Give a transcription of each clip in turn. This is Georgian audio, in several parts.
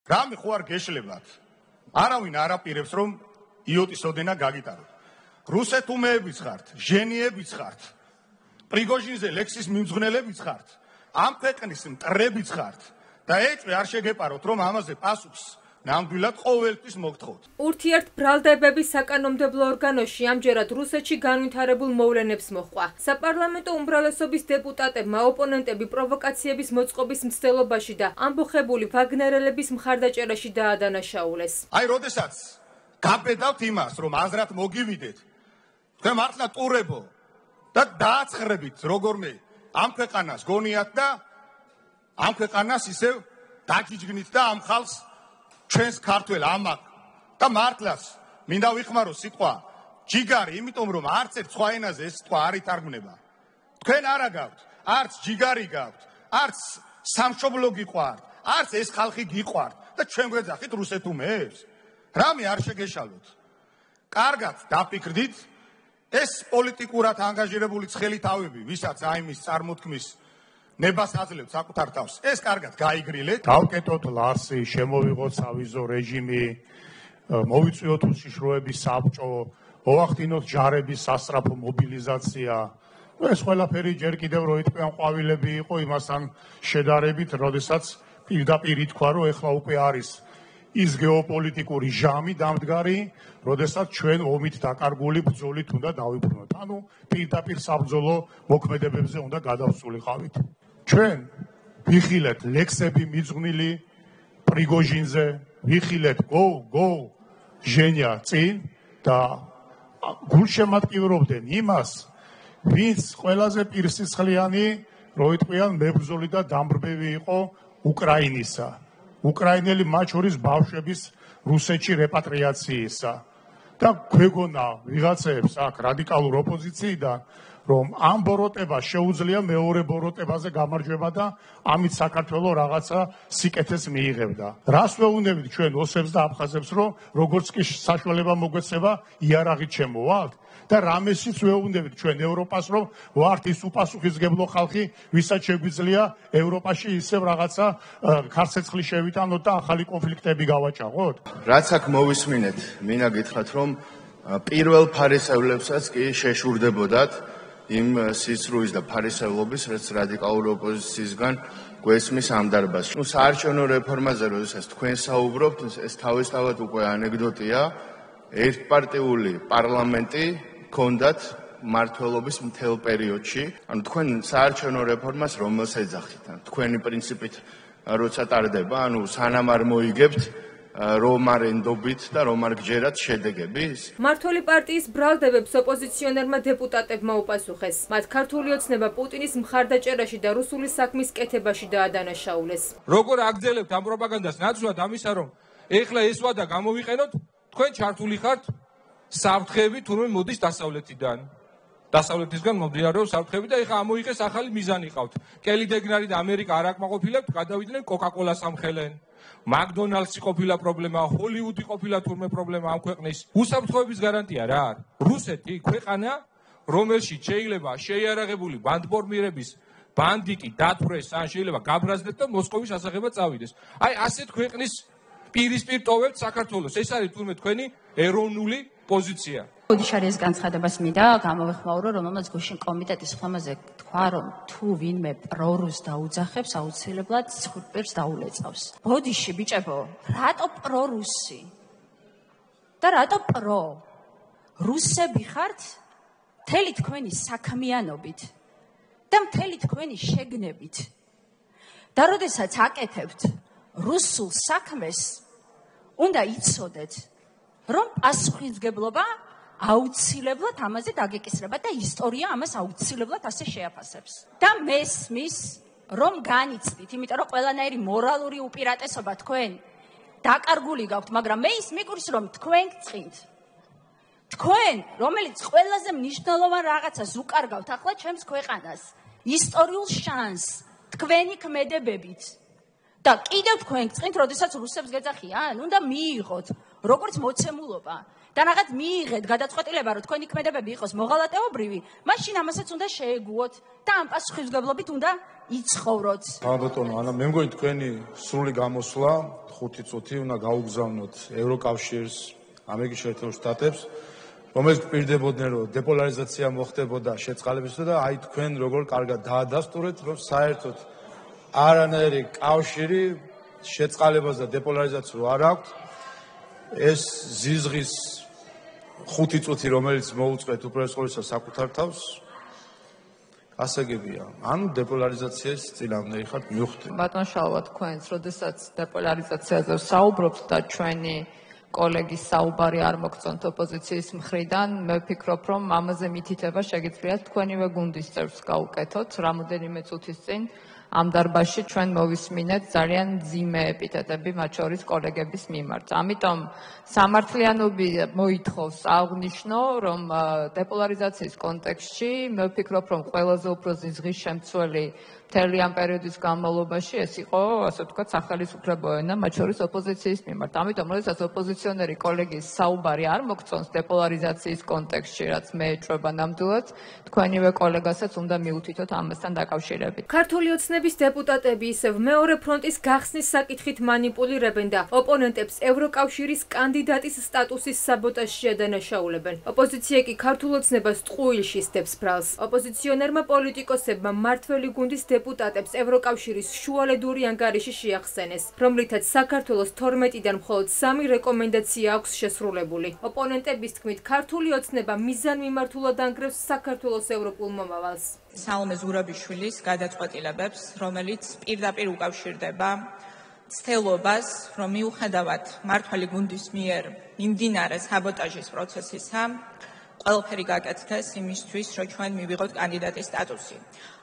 რამე ხო არ გეშლებათ. არავინ არ აპირებს რომ იოტის ოდენა გაგიტაროთ. რუსეთუმეებიც ხართ, ჟენიებიც ხართ. პრიგოჟინზე ლექსის მიმძღვნელებიც ხართ. ამ ქვეყნის მტრებიც ხართ და ეჭვი არ შეგეპაროთ რომ ამაზე პასუხს ნამდვილად ყოველთვის მოგთხოვთ. ურთიერთ ბრალდებების საკანონმდებლო ორგანოში ამჯერად რუსეთში განვითარებულ მოვლენებს მოჰყვა. საპარლამენტო უმრავლესობის დეპუტატებმა ოპონენტები პროვოკაციების მოწყობის მცდელობაში და ამბოხებული ვაგნერელების მხარდაჭერაში დაადანაშაულეს. აი, როდესაც გაბედავთ იმას, რომ აზრად მოგივიდეთ, თქვენ მართლა ტურებო და დააცხრებით როგორმე ამ ქვეყანას გონიათ და ამ ქვეყანას ისევ დაჯიჯგნით და ამ ხალხს ჩვენს ქართველ ამაკ და მართლაც მინდა ვიხმარო სიტყვა ჯიგარი, იმიტომ რომ არც ერთ სხვა ენაზე ეს სიტყვა არ ითარგმნება. თქვენ არა გაქვთ, არც ჯიგარი გაქვთ, არც სამშობლო გიყვართ, არც ეს ხალხი გიყვართ და ჩვენ გვეძახით რუსეთუმეებს. რამე არ შეგეშალოთ. კარგად დაფიქრდით, ეს პოლიტიკურად ანგაჟირებული ცხელი თავები, ვისაც აიმის წარმოთქმის ნებას აძლევთ საკუთარ თავს, ეს კარგად გაიგრილეთ. დავკეტოთ ლარსი, შემოვიღოთ სავიზო რეჟიმი, მოვიწვიოთ უშიშროების საბჭო, მოვახდინოთ ჯარების სასწრაფო მობილიზაცია. ეს ყველაფერი ჯერ კიდევ რო იტყვიან ყვავილები იყო იმასთან შედარებით, როდესაც პირდაპირ ითქვა, რომ ეხლა უკვე არის ის გეოპოლიტიკური ჟამი დამდგარი, როდესაც ჩვენ ომით დაკარგული ბრძოლით უნდა დავიბრუნოთ. ანუ პირდაპირ საბრძოლო მოქმედებებზე უნდა გადავსულიყავით. ჩვენ ვიხილეთ ლექსები მიძღვნილი პრიგოჟინზე, ვიხილეთ გო ჟენია წინ და გულშემატკივრობდნენ იმას, ვინც ყველაზე პირსისხლიანი, რო იტყვიან მებრძოლი და დამბრბევი იყო უკრაინისა. უკრაინელი მათ შორის ბავშვების რუსეთში რეპატრიაციისა. და გვეგონა ვიღაცებს აქ რადიკალურ ოპოზიციიდან, რომ ამ ბოროტებას შეუძლია მეორე ბოროტებაზე გამარჯვება და ამით საქართველოს რაღაცა სიკეთეს მიიღებდა. რას ვეუბნებით ჩვენ ოსებს და აფხაზებს, რომ როგორც კი საშუალება მოგვეცემა, იარაღით შემოვალთ? და რამესიც ვეუბნებით ჩვენ ევროპას, რომ ვართ ის უპასუხისმგებლო ხალხი, ვისაც შეგვიძლია ევროპაში ისევ რაღაცა ქარცეცხლი შევიტანოთ და ახალი კონფლიქტები გავაჭაღოთ? რაც აქ მოვისმინეთ, მინდა გითხრათ, რომ პირველ ფარისევლებსაც კი შეშურდებოდათ იმ სისრულის და ფარისევლობის, რაც რადიკალური ოპოზიციისგან გვესმის ამ დარბაზში. საარჩევნო რეფორმაზე, როდესაც თქვენ საუბრობთ, ეს თავისთავად უკვე ანეკდოტია, ერთპარტიული პარლამენტი ჰქონდათ მმართველობის მთელ პერიოდში. ანუ თქვენ საარჩევნო რეფორმას რომელს ეძახით? თქვენი პრინციპით როცა ტარდება, ანუ სანამ არ მოიგებთ რომ არ ენდობით და რომ არ გჯერათ შედეგების? მმართველი პარტიის ბრალდებებს ოპოზიციონერმა დეპუტატებმა უპასუხეს. მათ ქართული ოცნება პუტინის მხარდაჭერაში და რუსული საქმის კეთებაში დაადანაშაულეს. როგორ აგრძელებთ ამ პროპაგანდას ნაცვლად ამისა, რომ ეხლა ეს ვადა გამოვიყენოთ, თქვენ ჩართული ხართ საფრთხეები თურმე მოდის დასავლეთიდან. დასავლეთისგან მომდინარეობს საფრთხეები და ეხლა ამოიღეს ახალი მიზანი ყავთ. კელი დეგნარი და ამერიკა არ აკმაყოფილებთ, გადავიდნენ კოკა-კოლას ამხელენ. მაკდონალდსი ყოფილა პრობლემა, ჰოლივუდი ყოფილა თურმე პრობლემა ამ ქვეყნის. უსაფრთხოების გარანტია რა არის? რუსეთი ქვეყანა, რომელშიც შეიძლება შეიარაღებული ბანდფორმირების ბანდიტი დათვრეს, ან შეიძლება გაბრაზდეთ და მოსკოვის ასაღებად წავიდეს. აი ასეთ ქვეყნის პირისპირ ტოვებთ საქართველოს. ეს არის თურმე თქვენი ეროვნული პოზიცია. ოდიშარის განცხადებას მინდა გამოვეხმაურო, რომელმაც გუშინ კომიტეტის ხმაზე თქვა, რომ თუ ვინმე პრორუს დაუძახებს, აუცილებლად ცხრპირს დაულეწავს. ბოდიში ბიჭებო, რატო პრორუსი? და რატო პრო? რუსები ხართ მთელი თქვენი საქმიანობით და მთელი თქვენი შეგნებით. და როდესაც აკეთებთ რუსულ საქმეს, უნდა იცოდეთ, რომ პასუხისმგებლობა აუცილებლად ამაზე დაგეკისრება და ისტორია ამას აუცილებლად ასე შეაფასებს. და მესმის, რომ განიცდით, იმიტომ რომ ყველანაირი მორალური უპირატესობა თქვენ დაკარგული გაქვთ, მაგრამ მე ის მიგურს, რომ თქვენ გწყინთ. თქვენ, რომელიც ყველაზე მნიშვნელოვან რაღაცას უკარგავთ ახლა ჩემს ქვეყანას, ისტორიულ შანსს, თქვენი ქმედებებით. და კიდევ თქვენ გწყინთ, როდესაც რუსებს გეძახიან, უნდა მიიღოთ, როგორც მოცემულობა, და რაღაც მიიღეთ გადაწყვეტილება, რომ თქვენი ქმედებები იყოს მოღალატეობრივი, მაშინ ამასაც უნდა შეეგუოთ და ამ პასუხისმგებლობით უნდა იცხოვროთ. ბატონო, ანა მე მგონი თქვენი სრული გამოსვლა 5 წუთი უნდა გაუგზავნოთ ევროკავშირს, ამერიკის შეერთებულ შტატებს, რომელიც გვპირდებოდნენ, რომ დეპოლარიზაცია მოხდებოდა შეწყალებისათვის და აი თქვენ როგორ კარგად დაადასტურეთ, რომ საერთოდ არანაირი კავშირი შეწყალებას და დეპოლარიზაციას რო არ აქვს. ეს ზიზღის 5 წუთი, რომელიც მოუწყვეთ უპირველეს ყოვლისა საკუთარ თავს, გასაგებია. ანუ დეპოლარიზაციის წინააღმდეგი ხართ მივხვდით. ბატონ შალვა, თქვენს, როდესაც დეპოლარიზაციაზე საუბრობთ და ჩვენი კოლეგის საუბარი არ მოგწონთ ოპოზიციის მხრიდან, მე ვფიქრობ, რომ ამაზე მითითება შეგიძლიათ თქვენივე გუნდის წევრს გაუკეთოთ, რამოდენიმე წუთის წინ ამ დარბაზში ჩვენ მოვისმინეთ ძალიან მძიმე ეპიტეტები მათ შორის კოლეგების მიმართ. ამიტომ სამართლიანობი მოითხოვს აღნიშნო, რომ დეპოლარიზაციის კონტექსტში მე ვფიქრობ, რომ ყველაზე უფრო ზიზღის შემცველი მთელი ამ პერიოდის განმავლობაში ეს იყო, ასე ვთქვათ, სახელმწიფო ენა მათ შორის ოპოზიციის მიმართ. ამიტომ, როდესაც ოპოზიციონერი კოლეგის საუბარი არ მოგწონს დეპოლარიზაციის კონტექსტში, რაც მე ეჭვება ნამდვილად, თქვენივე კოლეგასაც უნდა მიუთითოთ ამასთან დაკავშირებით. ქართული ოცნების დეპუტატები ისევ მეორე ფრონტის გახსნის საკითხით მანიპულირებენ და ოპონენტებს ევროკავშირის კანდიდატის სტატუსის საბოტაჟში ადანაშაულებენ. ოპოზიცია კი ქართულ ოცნებას ტყუილში სდებს ბრალს. ოპოზიციონერმა პოლიტიკოსებმა მმართველი გუნდის დეპუტატებს ევროკავშირის შუალედური ანგარიში შეახსენეს, რომლითაც საქართველოს 12-დან მხოლოდ 3 რეკომენდაცია აქვს შესრულებული. ოპონენტების თქმით, ქართული ოცნება მიზანმიმართულად ანგრევს საქართველოს ევროპულ მომავალს. სალომე ზურაბიშვილის გადაწყვეტილებებს, რომელიც პირდაპირ უკავშირდება ცდილობას, რომ მიუხედავად მმართველი გუნდის მიერ მიმდინარე საბოტაჟის პროცესისა, ყველაფერი გაკეთდეს იმისთვის, რომ ჩვენ მივიღოთ კანდიდატის სტატუსი.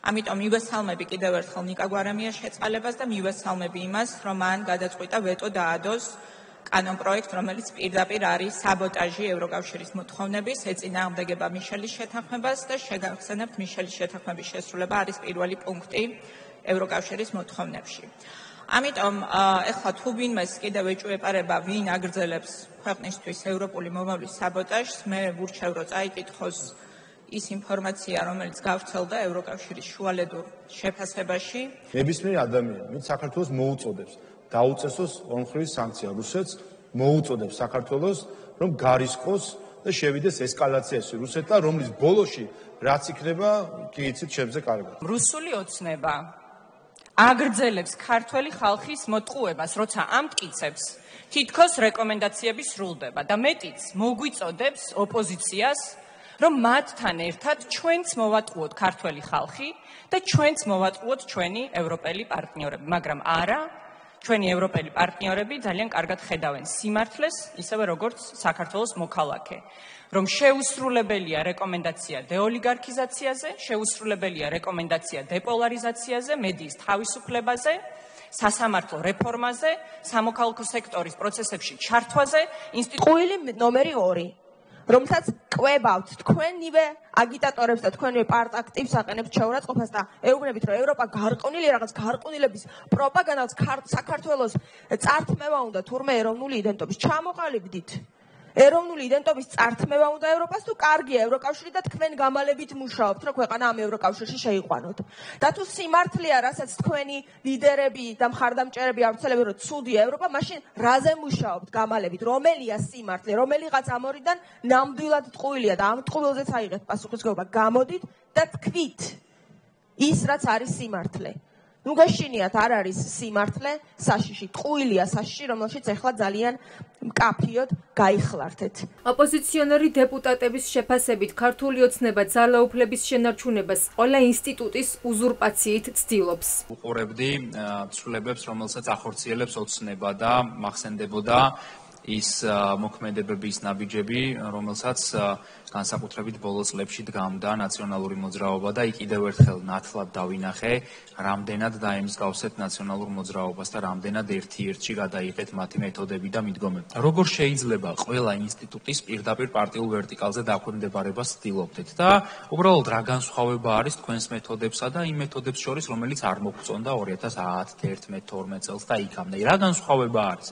ამიტომ მივესალმები კიდევ ერთხელ ნიკა გვარამიას შეწყალებას და მივესალმები იმას, რომ მან გადაწყვიტა ვეტო დაადოს კანონპროექტ, რომელიც პირდაპირ არის საბოტაჟი ევროკავშირის მოთხოვნების, ეწინააღმდეგება მიშელის შეთანხმებას და შეგახსენებთ მიშელის შეთანხმების შესრულება არის პირველი პუნქტი ევროკავშირის მოთხოვნებში. ამიტომ ეხლა თუ ვინმეს კიდევ ეჭვეპარება, ვინ აგრძელებს ქვეყნისთვის ევროპული მომავლის საბოტაჟს, მე ვურჩევ, რომ წაიკითხოს ის ინფორმაცია, რომელიც გავრცელდა ევროკავშირის შუალედურ შეფასებაში. ნებისმიერ ადამიანს, ვინც საქართველოს მოუწოდებს დაუწესოს ორმხრივი სანქცია რუსეთს, მოუწოდებს საქართველოს, რომ გარისხოს და შევიდეს ესკალაციაში რუსეთთან, რომლის ბოლოში რაც იქნება, კი იცით შემზე კარგად. რუსული ოცნება აგრძელებს ქართველი ხალხის მოტყუებას, როცა ამტკიცებს, თითქოს რეკომენდაციები სრულდება და მეტიც მოგვიწოდებს ოპოზიციას, რომ მათთან ერთად ჩვენც მოვატყუოთ ქართველი ხალხი და ჩვენც მოვატყუოთ ჩვენი ევროპელი პარტნიორები, მაგრამ არა, ჩვენი ევროპელი პარტნიორები ძალიან კარგად ხედავენ სიმართლეს, ისევე როგორც საქართველოს მოქალაქე, რომ შეუსრულებელია რეკომენდაცია დეოლიგარქიზაციაზე, შეუსრულებელია რეკომენდაცია დეპოლარიზაციაზე, მედიის თავისუფლებაზე, სასამართლო რეფორმაზე, სამოქალაქო სექტორის პროცესებში ჩართვაზე, ყუილი ნომერი 2, რომელსაც კვებავთ თქვენივე აგიტატორებს და თქვენივე პარტ-აქტივს აყენებთ შეურაცხყოფას და ეუბნებით, რომ ევროპა გარყვნილი რაღაც გარყვნილების პროპაგანდას საქართველოს წართმევა უნდა თურმე ეროვნული იდენტობის ჩამოყალიბდით. ეროვნული იდენტობის წართმევა უნდა ევროპას, თუ კარგია ევროკავშირი და თქვენ გამალებით მუშაობთ, რომ ქვეყანა ამ ევროკავშირში შეიყვანოთ. და თუ სიმართლეა, რასაც თქვენი ლიდერები და მხარდამჭერები ავრცელებენ, რომ ცუდია ევროპა, მაშინ რაზე მუშაობთ გამალებით? რომელია სიმართლე? რომელიღაც ამორიდან ნამდვილად ტყუილია და ამ ტყუილზეც აიღეთ პასუხისმგებლობა. გამოდით და თქვით ის, რაც არის სიმართლე. ნუ გაშინიათ, არ არის სიმართლე საშიში, ტყუილია საშიში, რომელშიც ახლა ძალიან მკაფიოდ გაიხლართეთ. ოპოზიციონერი დეპუტატების შეფასებით ქართული ოცნება ძალაუფლების შენარჩუნებას ყველა ინსტიტუტის უზურპაციით ცდილობს. უყურებდი ცვლილებებს, რომელსაც ახორციელებს ოცნება და მახსენდებოდა ის მოქმედებების ნაბიჯები, რომელსაც განსაკუთრებით ბოლო წლებში დგამდა ნაციონალური მოძრაობა და კიდევ ერთხელ ნათლად დავინახე, რამდენად დაემსგავსეთ ნაციონალურ მოძრაობას და რამდენად ერთ-ერთში გადაიღეთ მათი მეთოდები და მიდგომები. როგორ შეიძლება ყველა ინსტიტუტის პირდაპირ პარტიულ ვერტიკალზე დაქვემდებარებას ცდილობდეთ და უბრალოდ რა განსხვავება არის თქვენს მეთოდებსა და იმ მეთოდებს შორის, რომელიც არ მოგწონდა 2010, 2011, 2012 წელს და იქამდე. რა განსხვავება არის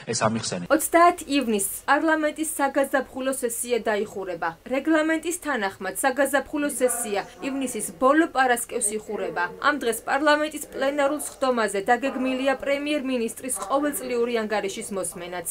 ეს ამიხსენეთ? 30 ივნისს პარლამენტის საგაზაფხულო სესია დაიხურება. რეგლამენტის თანახმად საგაზაფხულო სესია ივნისის ბოლო პარასკევს იხურება. ამ დღეს პარლამენტის პლენარულ სხდომაზე დაგეგმილია პრემიერ-მინისტრის ყოველწლიური ანგარიშის მოსმენაც.